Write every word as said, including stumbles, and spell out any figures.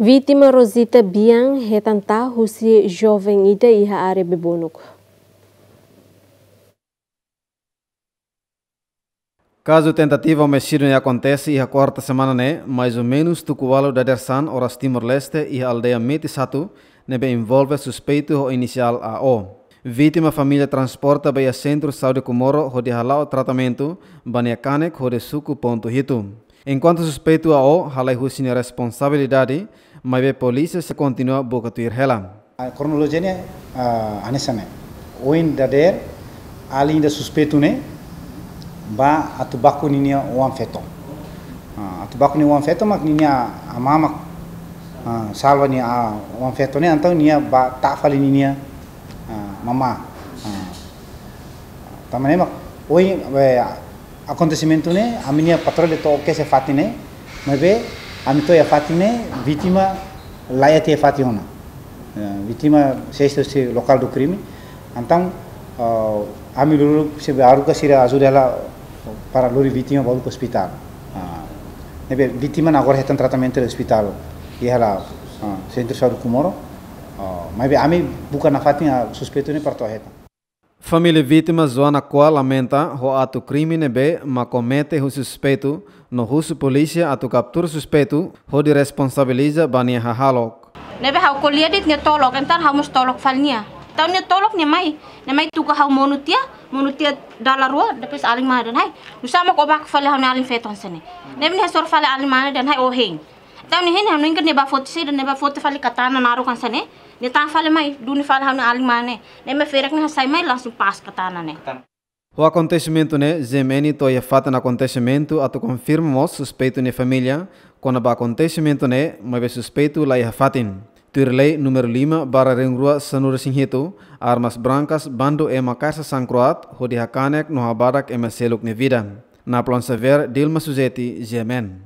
Vítima Rosita Bian hetan taa husi joven ida iha área Bebonuk. Kazu tentativa omisídiu ne'e akontese iha kuarta semana ne'e, mais ou menus tuku ualu dadeer-saan oras Timor-Leste iha aldeia Meti Satu, ne'ebé envolve suspeitu ho inisiál A O. Vítima família transporta ba iha Sentru Saúde Comoro hodi hala'o tratamentu ba nia kanek hodi suku pontu hitu. Enkuantu suspeitu A O halai husi nia responsabilidade, maibé polísia sei kontinua buka tuir hela. A kronolojia ne'e, ah, hanesan ne'e. Ohin dadeer, alin ida suspeitu ne'e bá atu baku ninia oan-feto. Ah, atu baku nia oan-feto mak ninia amá mak, ah, salva nia, ah, oan-feto ne'e, entaun nia bá tau fali ninia, ah, mamá. Ah, tanba ne'e mak, ohin, eh, akontesimentu ne'e, ami-nia patrulla to'o kedas iha fatin ne'e, maibé ami to'o iha fatin ne'e, vítima laiha tiha iha fatin ona. Eh, vítima sei husi lokál do krime. Entaun, ah, ami lori, sei haruka sira ajuda hela para lori vítima ba ospitál. Ah, ne'ebé vítima ne'e agora hetan tratamentu iha ospitál, iha hela, ah, Sentru Saúde Comoro. Ah, maibé ami buka nafatin, ah, suspeitu ne'e para to'o hetan. Família vítima Joana Koa lamenta ho atu krime ne'ebé mak komete husi suspeitu, no husu polísia atu kaptura suspeitu hodi responsabiliza ba nia hahalok. Ne'ebé ha'u ko'alia de'it nia tolok, entaun ha'u mós tolok fali nia. Entaun nia tolok nia mai, nia mai tuka ha'u monu tiha, monu tiha dala rua, depois alin mane dehan: "Hai, nusá mak ó baku fali ha'u-nia alin-feto hanesan ne'e?" Ne'ebé nia hasoru fali alin mane dehan: "Hai, ó hein." Entaun nia hein, ha'u hanoin katak nia bá foti saida, nia bá foti fali katana naruk hanesan ne'e. Nia tau fali mai, duni fali ha'u-nia alin mane. Ne'ebé ferik ne'e hasai mai langsung pas katana ne'e. Ho akontesimentu ne'e, G M N to'o iha fatin akontesimentu atu konfirma mós suspeitu nia família kona-ba akontesimentu ne'e, maibé suspeitu laiha fatin. Tuir lei númeru lima barra rihun rua sanulu-resin-hitu, armas brankas bandu ema kasa sangkroat hodi hakanek no habadak ema seluk nia vida. Napoleon Xavier, Dilma Suzeti, G M N.